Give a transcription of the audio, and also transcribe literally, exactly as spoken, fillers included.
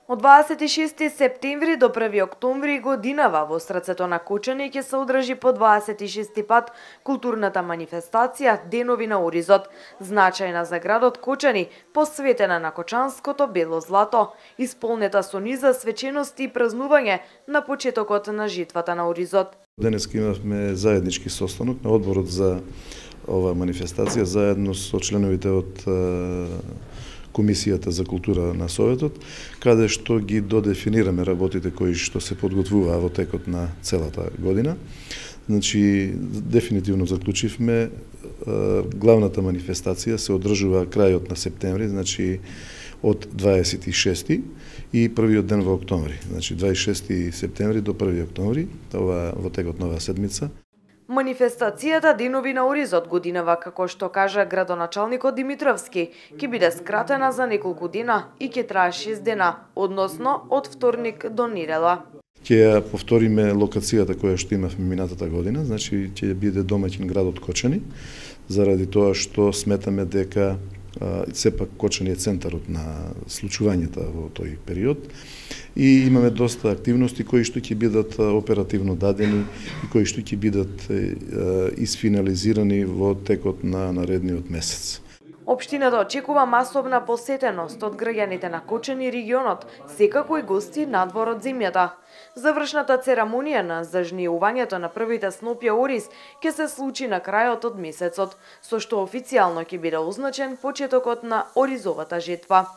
Од дваесет и шести септември до први октомври годинава во срцето на Кочани ќе се одржи по дваесет и шести пат културната манифестација Денови на Оризот, значајна за градот Кочани, посветена на кочанското бело злато, исполнета со низа свечености и празнување на почетокот на житвата на Оризот. Денес имавме заеднички состанок на одборот за ова манифестација заедно со членовите од Комисијата за култура на Советот, каде што ги додефинираме работите кои што се подготвуваа во текот на целата година. Значи, дефинитивно заклучивме, главната манифестација се одржува крајот на септември, значи од дваесет и шести и првиот ден во октомври. Значи, дваесет и шести септември до први октомври, ова во текот на оваа седмица. Манифестацијата Денови на Оризот годинава, како што кажа градоначалникот Димитровски, ќе биде скратена за неколку дена и ќе трае шест дена, односно од вторник до недела. Ќе ја повториме локацијата која што имавме минатата година, значи ќе биде домаќин градот Кочани, заради тоа што сметаме дека сепак Кочани е центарот на случувањата во тој период и имаме доста активности кои што ќе бидат оперативно дадени и кои што ќе бидат исфинализирани во текот на наредниот месец. Општината очекува масовна посетеност од граѓаните на Кочани и регионот, секако и гости надвор од земјата. Завршната церемонија на зажнеувањето на првите снопја ориз ќе се случи на крајот од месецот, со што официјално ќе биде означен почетокот на оризовата жетва.